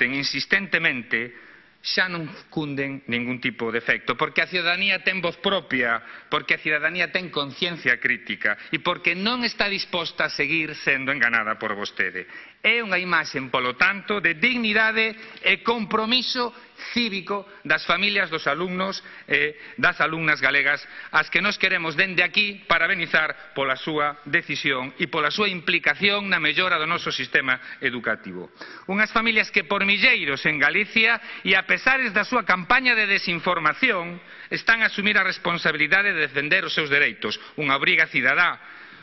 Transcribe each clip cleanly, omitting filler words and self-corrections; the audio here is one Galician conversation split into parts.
rebaten insistentemente, xa non cunden ningún tipo de efecto, porque a ciudadanía ten voz propia, porque a ciudadanía ten conciencia crítica e porque non está disposta a seguir sendo enganada por vostede. É unha imaxe, polo tanto, de dignidade e compromiso cívico das familias dos alumnos e das alumnas galegas as que nos queremos dende aquí parabenizar pola súa decisión e pola súa implicación na mellora do noso sistema educativo. Unhas familias que por milleiros en Galicia e a pesares da súa campaña de desinformación están a asumir a responsabilidade de defender os seus dereitos, unha obriga cidadá.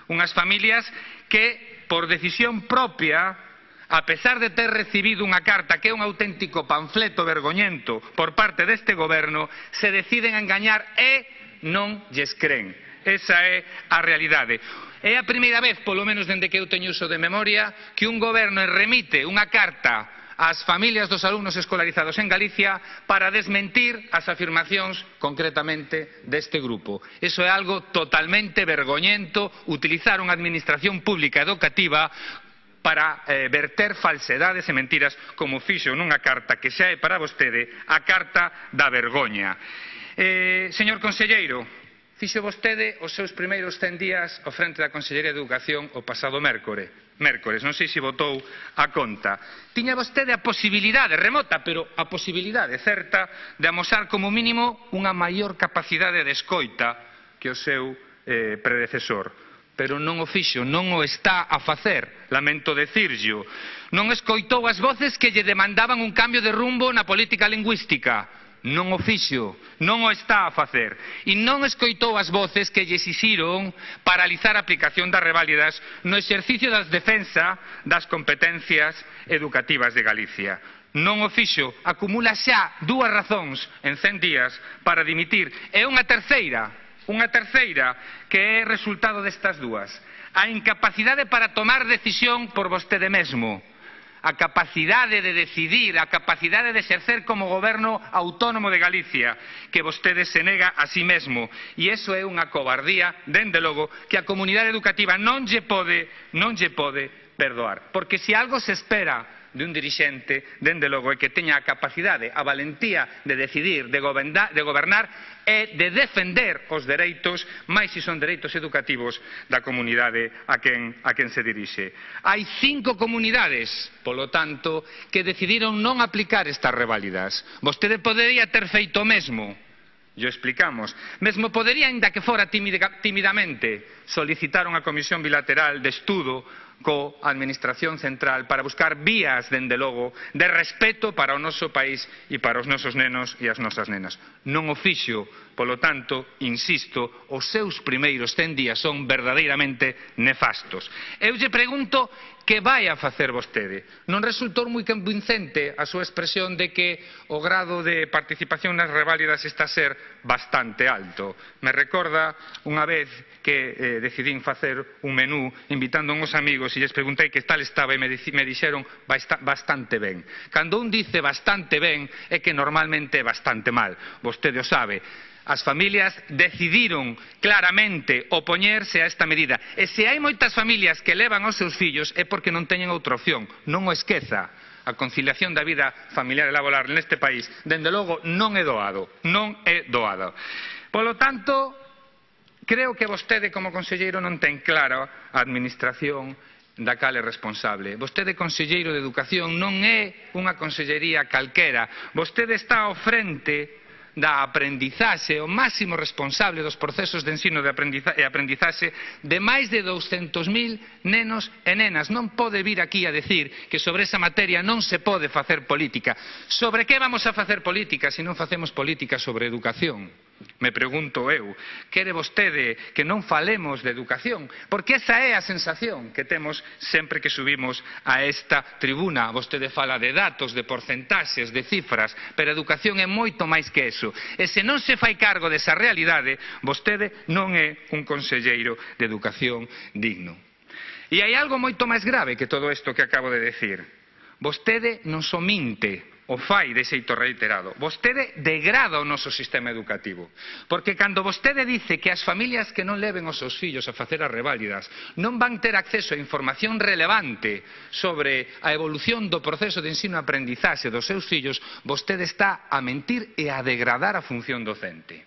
Unhas familias que, por decisión propia, a pesar de ter recibido unha carta que é un auténtico panfleto vergoñento por parte deste goberno, se deciden a engañar e non lles cren. Esa é a realidade. É a primeira vez, polo menos dende que eu teño uso de memoria, que un goberno remite unha carta ás familias dos alumnos escolarizados en Galicia para desmentir as afirmacións concretamente deste grupo. Iso é algo totalmente vergoñento, utilizar unha administración pública educativa para verter falsedades e mentiras como fixo nunha carta que xa é para vostede a carta da vergoña. Señor conselleiro, fixo vostede os seus primeiros 100 días ao frente da Consellería de Educación o pasado mércores, non sei se votou a conta. Tiña vostede a posibilidade, remota, pero a posibilidade certa, de amosar como mínimo unha maior capacidade de escoita que o seu predecesor. Pero non o fixo, non o está a facer, lamento decirllo. Non escoitou as voces que lle demandaban un cambio de rumbo na política lingüística. Non o fixo, non o está a facer. E non escoitou as voces que lle exixiron paralizar a aplicación das reválidas no exercicio das defensa das competencias educativas de Galicia. Non o fixo, acumula xa 2 razóns en 100 días para dimitir. E unha terceira que é resultado destas dúas. A incapacidade para tomar decisión por vostede mesmo. A capacidade de decidir, a capacidade de exercer como goberno autónomo de Galicia, que vostede se nega a si mesmo. E iso é unha cobardía, dende logo, que a comunidade educativa non lle pode perdoar. Porque se algo se espera de un dirixente, dende logo, é que teña a capacidade, a valentía de decidir, de gobernar e de defender os dereitos, máis se son dereitos educativos da comunidade a quen se dirixe. Hai 5 comunidades, polo tanto, que decidiron non aplicar estas reválidas. Vostede podería ter feito o mesmo. Yo explicamos. Mesmo podería, ainda que fora timidamente, solicitar unha comisión bilateral de estudo coa Administración Central para buscar vías, dende logo, de respeto para o noso país e para os nosos nenos e as nosas nenas. Non o fixo, polo tanto, insisto, os seus primeiros 100 días son verdadeiramente nefastos. Eu lle pregunto que vai a facer vostede. Non resultou moi convincente a súa expresión de que o grado de participación nas reválidas está a ser bastante alto. Me recorda unha vez que decidín facer un menú invitando a uns amigos e lles preguntei que tal estaba e me dixeron bastante ben. Cando un dice bastante ben é que normalmente é bastante mal. Vostede o sabe. As familias decidiron claramente opoñerse a esta medida. E se hai moitas familias que levan aos seus fillos é porque non teñen outra opción. Non o esqueza. A conciliación da vida familiar e laboral neste país, dende logo, non é doado. Non é doado. Polo tanto, creo que vostede como conselleiro non ten clara a administración da cal é responsable. Vostede, conselleiro de Educación, non é unha consellería calquera. Vostede está ao frente da aprendizaxe, o máximo responsable dos procesos de ensino e aprendizaxe de máis de 200.000 nenos e nenas. Non pode vir aquí a decir que sobre esa materia non se pode facer política. Sobre que vamos a facer política se non facemos política sobre educación? Me pregunto eu, quere vostede que non falemos de educación? Porque esa é a sensación que temos sempre que subimos a esta tribuna. Vostede fala de datos, de porcentaxes, de cifras, pero a educación é moito máis que eso. E se non se fai cargo desa realidade, vostede non é un conselleiro de educación digno. E hai algo moito máis grave que todo isto que acabo de decir. Vostede non só minte o fai de xeito reiterado. Vostede degrada o noso sistema educativo. Porque cando vostede dice que as familias que non leven os seus fillos a facer as reválidas non van ter acceso a información relevante sobre a evolución do proceso de ensino-aprendizaxe dos seus fillos, vostede está a mentir e a degradar a función docente.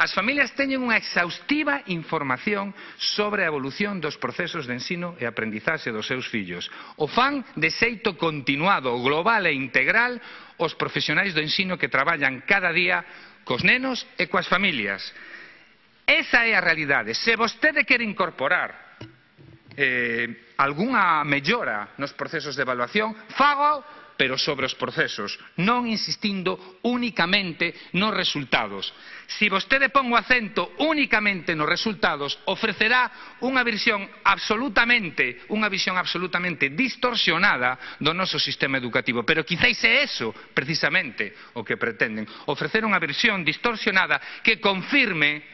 As familias teñen unha exhaustiva información sobre a evolución dos procesos de ensino e aprendizaxe dos seus fillos. O fan de xeito continuado, global e integral os profesionais do ensino que traballan cada día cos nenos e coas familias. Esa é a realidade. Se vostede quere incorporar algunha mellora nos procesos de evaluación, fágao, pero sobre os procesos, non insistindo únicamente nos resultados. Se vostede pon o acento únicamente nos resultados, ofrecerá unha visión absolutamente distorsionada do noso sistema educativo. Pero quizáis é eso, precisamente, o que pretenden. Ofrecer unha visión distorsionada que confirme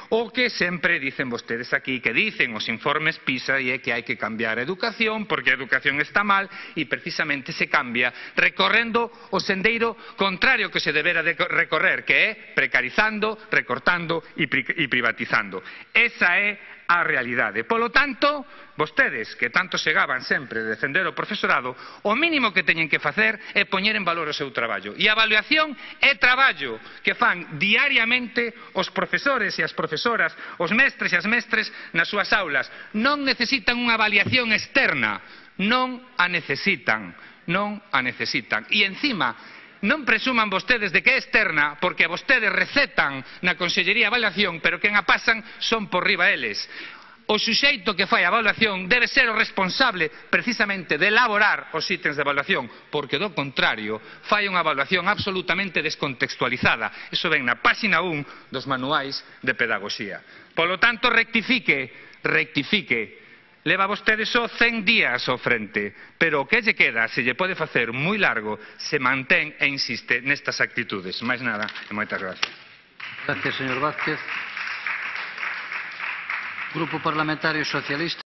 o que sempre dicen vostedes aquí, que dicen os informes PISA, e é que hai que cambiar a educación porque a educación está mal, e precisamente se cambia recorrendo o sendeiro contrario que se debera de recorrer, que é precarizando, recortando e privatizando. Esa é a realidade. Polo tanto, vostedes, que tanto se gaban sempre de defender o profesorado, o mínimo que teñen que facer é poñer en valor o seu traballo. E a avaliación é traballo que fan diariamente os profesores e as profesoras, os mestres e as mestres nas súas aulas. Non necesitan unha avaliación externa, non a necesitan. E encima, non presuman vostedes de que é externa, porque vostedes recetan na Consellería de Avaliación, pero quen a pasan son por riba eles. O suxeito que fai a avaliación debe ser o responsable precisamente de elaborar os ítems de avaliación, porque do contrario fai unha avaliación absolutamente descontextualizada. Iso ven na páxina 1 dos manuais de pedagogía. Polo tanto, rectifique. Leva vostede só 100 días ao frente, pero o que lle queda, se lle pode facer moi largo, se mantén e insiste nestas actitudes. Máis nada, e moitas gracias. Gracias, señor Vázquez. Grupo Parlamentario Socialista.